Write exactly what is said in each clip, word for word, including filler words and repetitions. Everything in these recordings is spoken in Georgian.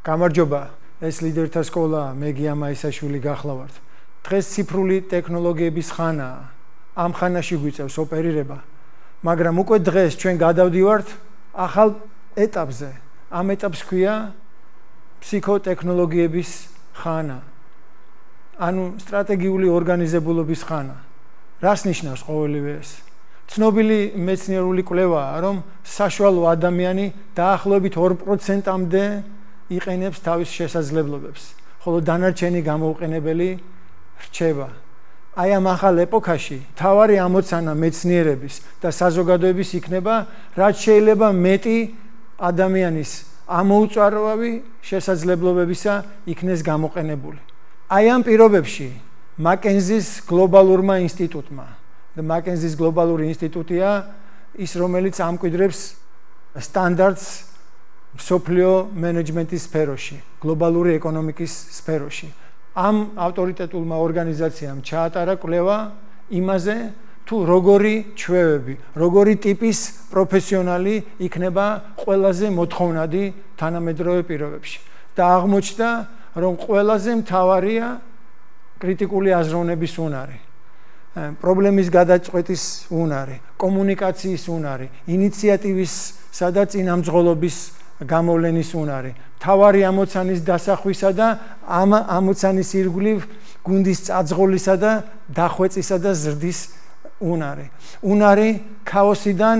გამარჯობა, ეს ლიდერთა სკოლა, მე გია მაისაშვილი გახლავართ. დღეს ციფრული ტექნოლოგიების ხანაა. ამ ხანაში გვიწევს ოპერირება, მაგრამ უკვე დღეს ჩვენ გადავდივართ ახალ ეტაპზე. ამ ეტაპს ქვია ფსიქოტექნოლოგიების ხანა. ანუ სტრატეგიული ორგანიზებულობის ხანა. რას ნიშნავს ყოველივე ეს? ცნობილი მეცნიერული კვლევაა, რომ საშუალო ადამიანი დაახლოებით ორ პროცენტამდე იყენებს თავის შესაძლებლობებს, ხოლო დანარჩენი გამოუყენებელი რჩება. აი ამ ახალ ეპოქაში მთავარი ამოცანა მეცნიერების და საზოგადოების იქნება, რაც შეიძლება მეტი ადამიანის ამოუწარავი შესაძლებლობებისა იქნეს გამოყენებული. აი ამ პირობებში მაკენზის გლობალურმა ინსტიტუტმა და მაკენზის გლობალური ინსტიტუტია ის, რომელიც ამკვიდრებს სტანდარტს მსოფლიო მენეჯმენტის სფეროში, გლობალური ეკონომიკის სფეროში. ამ ავტორიტეტულმა ორგანიზაციამ ჩაატარა კვლევა იმაზე, თუ როგორი ჩვევები, როგორი ტიპის პროფესიონალი იქნება ყველაზე მოთხოვნადი თანამედროვე პირობებში. და აღმოჩნდა, რომ ყველაზე მთავარია კრიტიკული აზროვნების უნარი, პრობლემის გადაწყვეტის უნარი, კომუნიკაციის უნარი, ინიციატივისა და წინამძღოლობის გამოვლენის უნარი, მთავარი ამოცანის დასახვისა და ამ ამოცანის ირგვლივ გუნდის წაძღოლისა და დახვეწისა და ზრდის უნარი. უნარი ქაოსიდან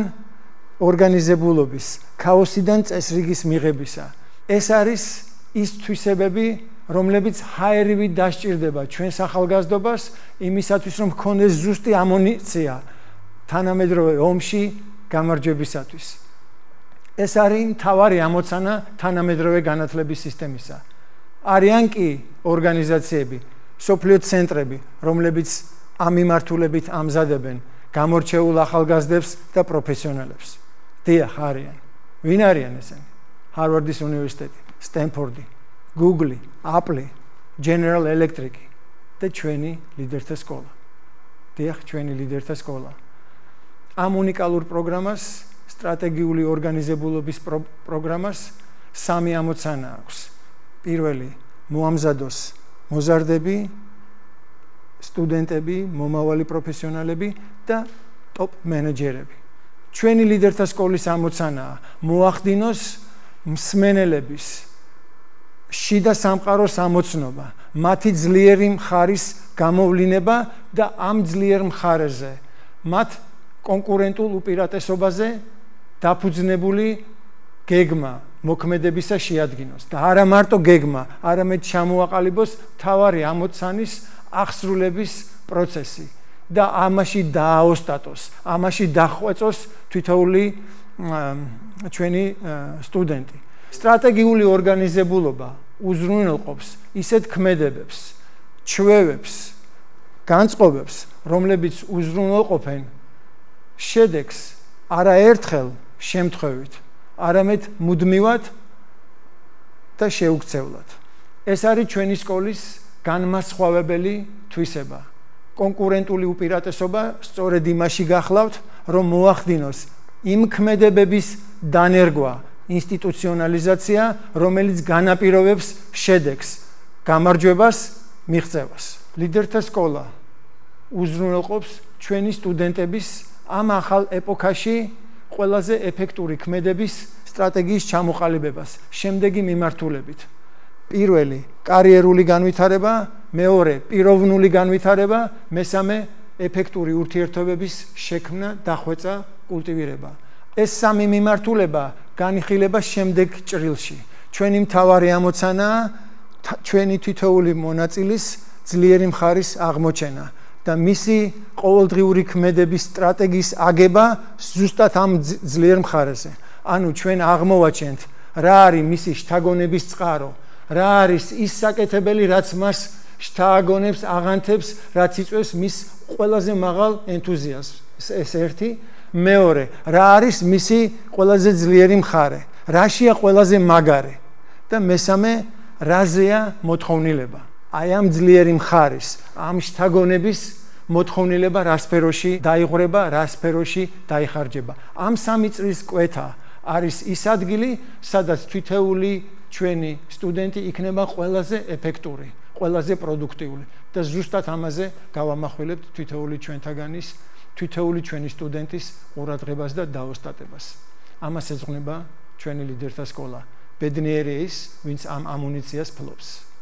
ორგანიზებულობის, ქაოსიდან წესრიგის მიღებისა. ეს არის ის თვისებები, რომლებიც ჰაერივით დასჭირდება ჩვენს ახალგაზრდობას იმისათვის, რომ ჰქონდეს ზუსტი ამუნიცია თანამედროვე ომში გამარჯვებისათვის. ეს არის მთავარი ამოცანა თანამედროვე განათლების სისტემისა. არიან კი ორგანიზაციები, მსოფლიო ცენტრები, რომლებიც ამ მიმართულებით ამზადებენ გამორჩეულ ახალგაზრდებს და პროფესიონალებს. დიახ, არიან. ვინ არიან ესენი? ჰარვარდის უნივერსიტეტი, სტენფორდი, გუგლი, აპლი, ჯენერალ ელექტრიკი და ჩვენი ლიდერთა სკოლა. დიახ, ჩვენი ლიდერთა სკოლა. ამ უნიკალურ პროგრამას, სტრატეგიული ორგანიზებულობის პროგრამას სამი ამოცანა აქვს. პირველი, მოამზადოს მოზარდები, სტუდენტები, მომავალი პროფესიონალები და ტოპ მენეჯერები. ჩვენი ლიდერთა სკოლის ამოცანაა მოახდინოს მსმენელების შიდა სამყაროს ამოცნობა, მათი ძლიერი მხარის გამოვლინება და ამ ძლიერ მხარეზე მათ კონკურენტულ უპირატესობაზე დაფუძნებული გეგმა მოქმედებისა შეადგინოს და არა მარტო გეგმა, არამედ ჩამოაყალიბოს მთავარი ამოცანის აღსრულების პროცესი და ამაში დააოსტატოს, ამაში დახვეწოს თითოეული ჩვენი სტუდენტი. სტრატეგიული ორგანიზებულობა უზრუნველყოფს ისეთ ქმედებებს, ჩვევებს, განწყობებს, რომლებიც უზრუნველყოფენ შედეგს არაერთხელ შემთხვევით, არამედ მუდმივად და შეუქცევლად. ეს არის ჩვენი სკოლის განმასხვავებელი თვისება. კონკურენტული უპირატესობა სწორედ იმაში გახლავთ, რომ მოახდინოს იმ ქმედებების დანერგვა, ინსტიტუციონალიზაცია, რომელიც განაპირობებს შედეგს, გამარჯვებას, მიღწევას. ლიდერთა სკოლა უზრუნველყოფს ჩვენი სტუდენტების ამ ახალ ეპოქაში ყველაზე ეფექტური ქმედების სტრატეგიის ჩამოყალიბებას შემდეგი მიმართულებით. პირველი, კარიერული განვითარება, მეორე, პიროვნული განვითარება, მესამე, ეფექტური ურთიერთობების შექმნა, დახვეწა, კულტივირება. ეს სამი მიმართულება განიხილება შემდეგ ჭრილში. ჩვენი მთავარი ამოცანაა ჩვენი თითოეული მონაწილის ძლიერი მხარის აღმოჩენა და მისი ყოველდღიური ქმედების სტრატეგიის აგება ზუსტად ამ ძლიერ მხარეზე. ანუ ჩვენ აღმოვაჩენთ რა არის მისი შთაგონების წყარო, რა არის ის საკეთებელი, რაც მას შთააგონებს, აღანთებს, რაც იწვევს მის ყველაზე მაღალ ენთუზიაზმს. ეს ერთი. მეორე, რა არის მისი ყველაზე ძლიერი მხარე, რაშია ყველაზე მაგარი და მესამე, რაზეა მოთხოვნილება. აი ამ ძლიერი მხარის, ამ შთაგონების მოთხოვნილება რა სფეროში დაიღვრება, რა სფეროში დაიხარჯება. ამ სამი წრის კვეთა არის ის ადგილი, სადაც თითოეული ჩვენი სტუდენტი იქნება ყველაზე ეფექტური, ყველაზე პროდუქტიული და ზუსტად ამაზე გავამახვილებთ თითოეული ჩვენთაგანის, თითოეული ჩვენი სტუდენტის ყურადღებას და დაოსტატებას. ამას ეძღვნება ჩვენი ლიდერთა სკოლა. ბედნიერი ის, ვინც ამ ამუნიციას ფლობს.